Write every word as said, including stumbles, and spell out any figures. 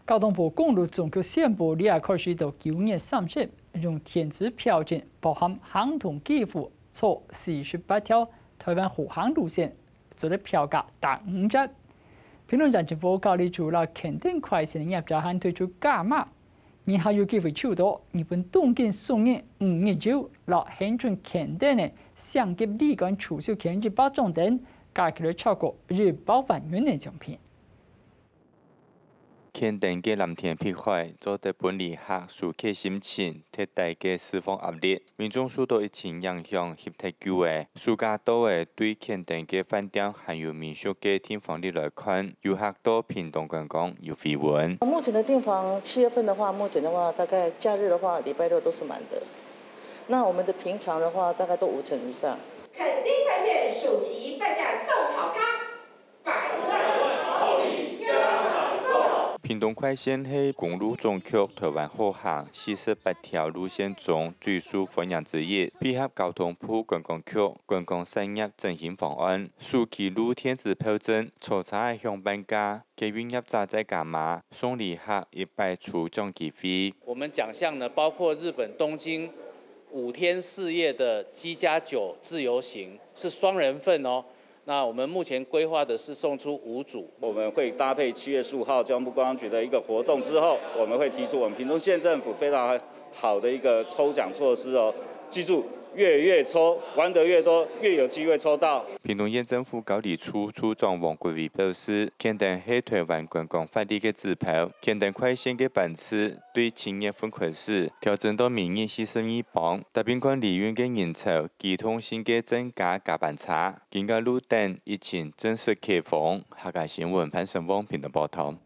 交通部公路總局宣布，這下開始到九月三十，用電子票證包含行動支付坐四十八條臺灣復航路線，做得票價打五折。屏東縣政府交通處摎Kantan快線業者還推出加碼，你還有機會抽到日本東京送你五日遊摎恆春Kantan个相機旅館促銷券一百張等，加起來超過一百萬元个獎品。 Kantan个藍天碧海，做得分旅客紓解心情，忒大个四方壓力。民眾受到疫情影響，翕忒久个，暑假到了，對Kantan个飯店還有民宿个訂房率來看，遊客到屏東觀光有回溫。目前的訂房，七月份的話，目前的話，大概假日的話，禮拜六都是滿的。那我們的平常的話，大概都五成以上。墾丁快線暑期半價送好康，百萬厚禮加碼送。屏東快線係公路總局臺灣好行四十八條路線中最受歡迎之一，配合交通部觀光局觀光產業振興方案，暑期路電子票證坐車仔享半價， 捷運業者再加碼，送旅客一擺抽獎機會。我們獎項呢，包括日本東京五天四夜的機加酒自由行，是雙人份哦。那我們目前規劃的是送出五組。我們會搭配七月十五號交通部觀光局的一個活動之後，我們會提出我們屏東縣政府非常好的一個抽獎措施哦。記住，月月抽，玩得越多，越有機會抽到。屏東縣政府交通處處長王國維表示，Kantan係臺灣觀光活力个指標，Kantan快線个班次對七月份開始調整到每日四十二班，搭配旅運个人潮機動性个增加加班車。今个路段疫情正式解封。客家新聞潘成旺屏東報導。